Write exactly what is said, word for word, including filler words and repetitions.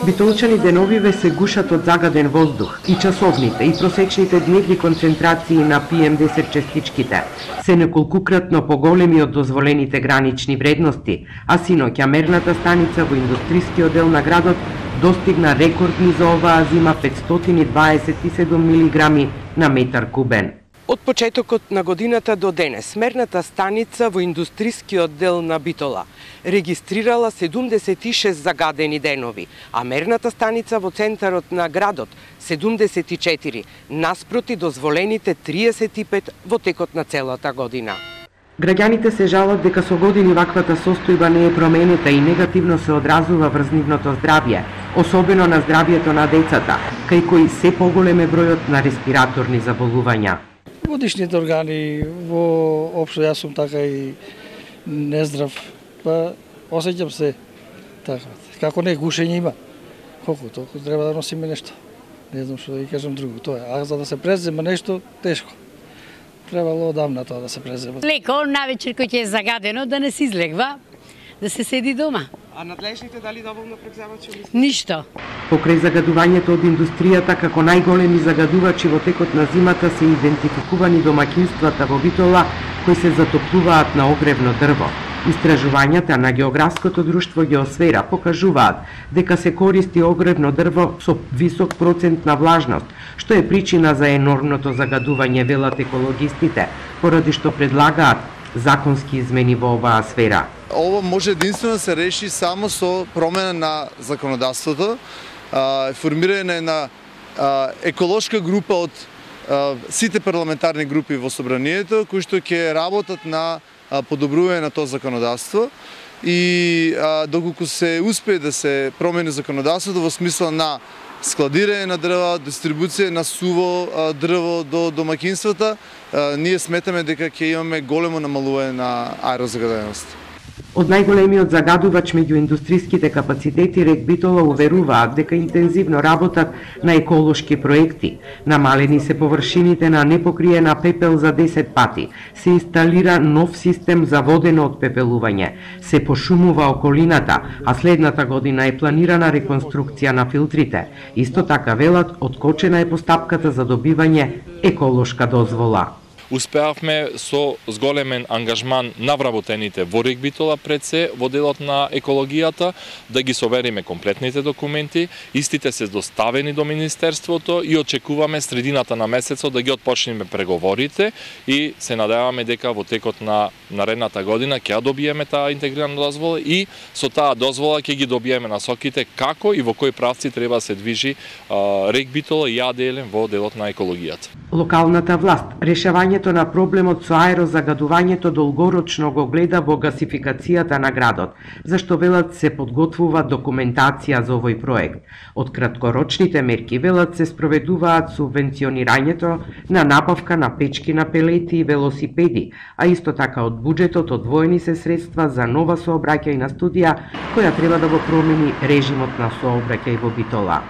Битолчани деновиве се гушат од загаден воздух и часовните и просечните дневни концентрации на пи ем десет честичките се неколкукратно поголеми од дозволените гранични вредности, а синоќа мерната станица во индустрискиот дел на градот достигна рекордни за оваа зима петстотини дваесет и седум милиграми на метар кубен. Од почетокот на годината до денес, мерната станица во индустрискиот дел на Битола регистрирала седумдесет и шест загадени денови, а мерната станица во центарот на градот седумдесет и четири, наспроти дозволените триесет и пет во текот на целата година. Граѓаните се жалат дека со години ваквата состојба не е променета и негативно се одразува врз нивното здравје, особено на здравјето на децата, кај кои се поголем е бројот на респираторни заболувања. Во дишните органи, во општо јас сум така и нездрав, па осеќам се така. Како не гушење има, колку толку треба да носиме нешто. Не знам што да ги кажам друго, тоа е. А за да се презема нешто, тешко. Требало одамна тоа да се презема. Леко навечер кој ќе е загадено да не се излегва, да се седи дома. А надлежните дали доволно превземат што мислите? Ништо. Покрај загадувањето од индустријата како најголеми загадувачи во текот на зимата се идентификувани домаќинствата во Битола кои се затоплуваат на огревно дрво. Истражувањата на географското друштво Геосфера покажуваат дека се користи огревно дрво со висок процент на влажност, што е причина за енормното загадување, велат екологистите, поради што предлагаат законски измени во оваа сфера. Ова може единствено да се реши само со промена на законодавството, формирање на еколошка група од сите парламентарни групи во собранието, кои што ќе работат на подобрување на тоа законодавство и доколку се успее да се промени законодавството во смисла на складирање на дрва, дистрибуција на суво дрво до домаќинствата, ние сметаме дека ќе имаме големо намалување на аерозагаденост. Од најголемиот загадувач меѓу индустриските капацитети РЕК Битола уверуваат дека интензивно работат на еколошки проекти. Намалени се површините на непокриена пепел за десет пати, се инсталира нов систем за водено отпепелување, се пошумува околината, а следната година е планирана реконструкција на филтрите. Исто така велат, откочена е постапката за добивање еколошка дозвола. Успеавме со зголемен ангажман на вработените во РЕК Битола пред се во делот на екологијата да ги совериме комплетните документи, истите се доставени до Министерството и очекуваме средината на месецот да ги отпочнеме преговорите и се надеваме дека во текот на наредната година ќе добиеме таа интегрирана дозвола и со таа дозвола ќе ги добиеме насоките како и во кои правци треба да се движи РЕК Битола и АДЛ во делот на екологијата. Локалната власт решавањето на проблемот со аерозагадувањето долгорочно го гледа во гасификацијата на градот, зашто велат се подготвува документација за овој проект. Од краткорочните мерки велат се спроведуваат субвенционирањето на набавка на печки на пелети и велосипеди, а исто така од буџетот одвоени се средства за нова сообраќајна студија која треба да го промени режимот на сообраќај во Битола.